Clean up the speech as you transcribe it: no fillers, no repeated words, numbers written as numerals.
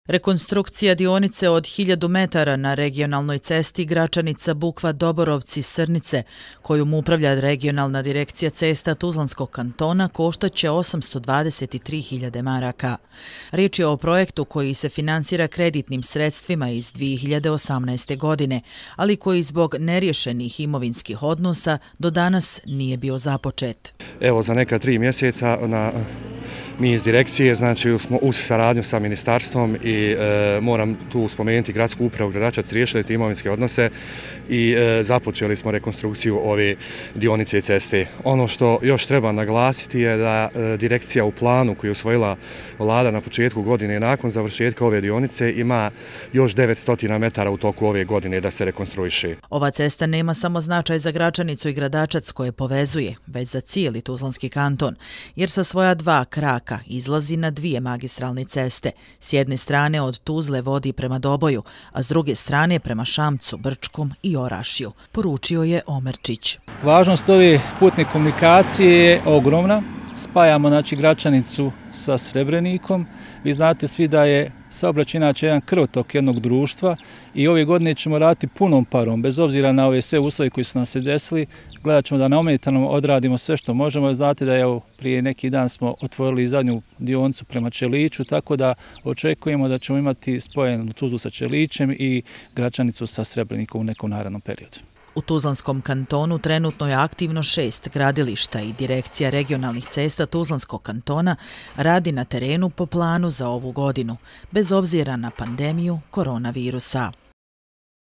Rekonstrukcija dionice od 1000 metara na regionalnoj cesti Gračanica-Bukva-Doborovci-Srnice, kojom upravlja regionalna direkcija cesta Tuzlanskog kantona, koštaće 823.000 maraka. Riječ je o projektu koji se finansira kreditnim sredstvima iz 2018. godine, ali koji zbog neriješenih imovinskih odnosa do danas nije bio započet. Evo, za neka 3 mjeseca mi iz direkcije smo uz saradnju sa ministarstvom i moram tu spomenuti gradsku upravu Gradačac, riješili te imovinske odnose i započeli smo rekonstrukciju ove dionice ceste. Ono što još treba naglasiti je da direkcija u planu koju je usvojila vlada na početku godine nakon završetka ove dionice ima još 900 metara u toku ove godine da se rekonstruiše. Ova cesta nema samo značaj za Gračanicu i Gradačac koje povezuje, već za cijeli Tuzlanski kanton, jer sa svoja 2 kraka izlazi na 2 magistralne ceste. S jedne strane od Tuzle vodi prema Doboju, a s druge strane prema Šamcu, Brčkom i Orašju, poručio je Omerčić. Važnost ove putne komunikacije je ogromna. Spajamo Gračanicu sa Srebrenikom. Vi znate svi da je saobraćaj inače jedan krvotok jednog društva i ove godine ćemo raditi punom parom, bez obzira na ove sve uslove koji su nam se desili. Gledat ćemo da neometano odradimo sve što možemo. Znate da je prije neki dan smo otvorili zadnju dionicu prema Čeliću, tako da očekujemo da ćemo imati spojenu Tuzlu sa Čelićem i Gračanicu sa Srebrenikom u nekom narednom periodu. U Tuzlanskom kantonu trenutno je aktivno 6 gradilišta i direkcija regionalnih cesta Tuzlanskog kantona radi na terenu po planu za ovu godinu, bez obzira na pandemiju koronavirusa.